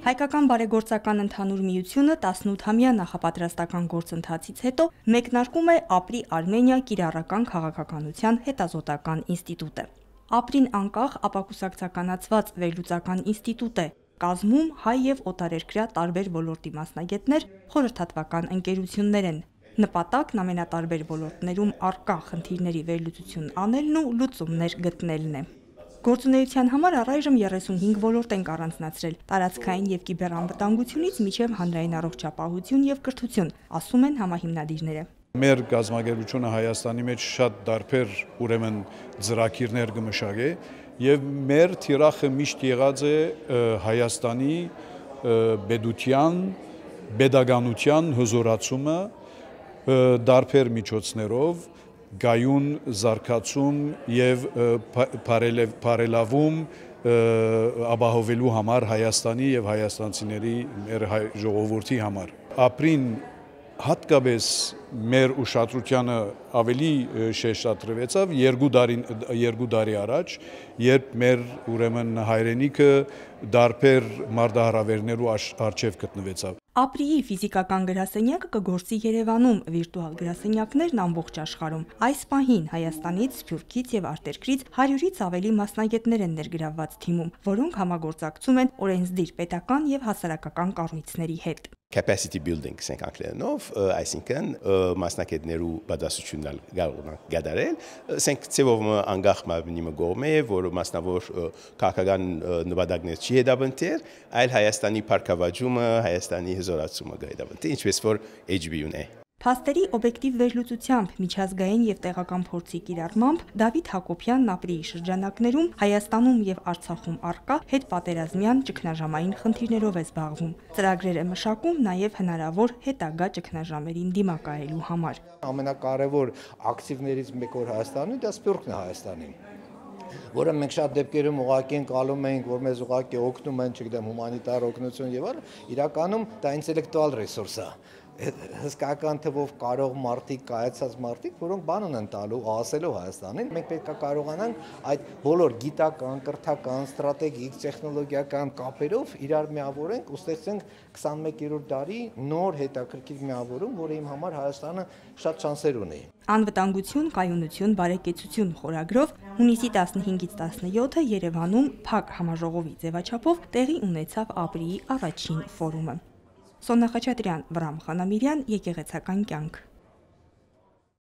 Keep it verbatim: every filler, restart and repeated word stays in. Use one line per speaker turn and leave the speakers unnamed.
Հայկական բարեգործական ընդհանուր միությունը տասնութամյա նախապատրաստական գործընթացից հետո մեկնարկում է Ապրի Արմենիա կիրառական քաղաքականության հետազոտական ինստիտուտը։ Ապրին անկախ ապակուսակցականացված վերլուծական ինստիտուտ է, կազմում հայ եւ օտարերկրյա տարբեր ոլորտի մասնագետներ, խորհրդատվական ընկերություններ են։ Նպատակն ամենատարբեր ոլորտներում առկա խնդիրների վերլուծություն անելն ու լուծումներ գտնելն է։ Գործունեության համար առայժմ երեսունհինգ ոլորտ ենք առանձնացրել՝ տարածքային եւ կիբերանվտանգությունից մինչեւ հանրային առողջապահություն եւ կրթություն, ասում են համահիմնադիրները։
Մեր գազագերությունը Հայաստանի մեջ շատ դարբեր ուրեմն ծրագիրներ կմշակե եւ մեր թիրախը միշտ եղած է Հայաստանի պետության, pedagoganության հզորացումը դարբեր միջոցներով գայուն զարգացում եւ բարելավում ապահովելու համար Հայաստանի եւ հայաստանցիների մեր հայ ժողովրդի համար։ Ապրին հատկապես մեր ուշադրությանը ավելի շեշտադրվեցավ երկու տարի երկու տարի առաջ, երբ մեր ուրեմն հայրենիքը դարբեր մարտահրավերներու առջև գտնվեցավ։
Ապրիի ֆիզիկական գրասենյակը կգործի Երևանում, վիրտուալ գրասենյակներն ամբողջ աշխարհում։ Այս պահին Հայաստանից, Սփյուռքից եւ արտերկրից հարյուրից ավելի մասնագետներ են ներգրավված թիմում, որոնք համագործակցում են օրենսդիր պետական եւ հասարակական կառույցների հետ։
Capacity building ասենք անգլերենով, այսինքն մասնակիցներու պատասխանատվությունն կարող են գդարել, ասենք ծեվով անգախ մարմնի մգոմե, որ մասնավոր քաղաքական նպատակներ չի հետապնդել, այլ Հայաստանի փառքավաճումը, Հայաստանի հզորացումը գայդապնդել, ինչպես որ H B U-ն է։
Փաստերի օբյեկտիվ վերլուծությամբ, միջազգային եւ տեղական փորձի կիրառմամբ Դավիթ Հակոբյանն Ապրիի շրջանակներում Հայաստանում եւ Արցախում առկա հետպատերազմյան ճգնաժամային խնդիրներով է զբաղվում։ Ծրագրեր է մշակում նաեւ հնարավոր հետագա ճգնաժամերին դիմակայելու համար։
Ամենակարևոր ակտիվներից մեկը որ Հայաստանում դա Սփյուռքն է Հայաստանին, որը մենք շատ դեպքերում ուղղակի ընկալում ենք, որ մեզ ուղղակի օգնում են, չգիտեմ, հումանիտար օգնություն եւ այլն, իրականում դա ինտելեկտուալ ռեսուրս է։ Հսկական թվով կարող մարդիկ, կայացած մարդիկ, որոնք բան ունեն տալու, ասելու Հայաստանին, մենք պետք է կարողանանք այդ բոլոր գիտական, կրթական, ստրատեգիկ, տեխնոլոգիական կապերով իրար միավորենք ու ստեղծենք քսանմեկերորդ դարի նոր հետաքրքիր միավորում, որը իմ համար Հայաստանը շատ շանսեր ունի։
Անվտանգություն, կայունություն, բարեկեցություն խորագրով հունիսի տասնհինգից տասնյոթը Երևանում փակ համաժողովի ձևաչափով տեղի ունեցավ Ապրիի առաջին ֆորումը։ Սոնա Խաչատրյան, Վրամ Խանամիրյան, Եկեղեցական կյանք։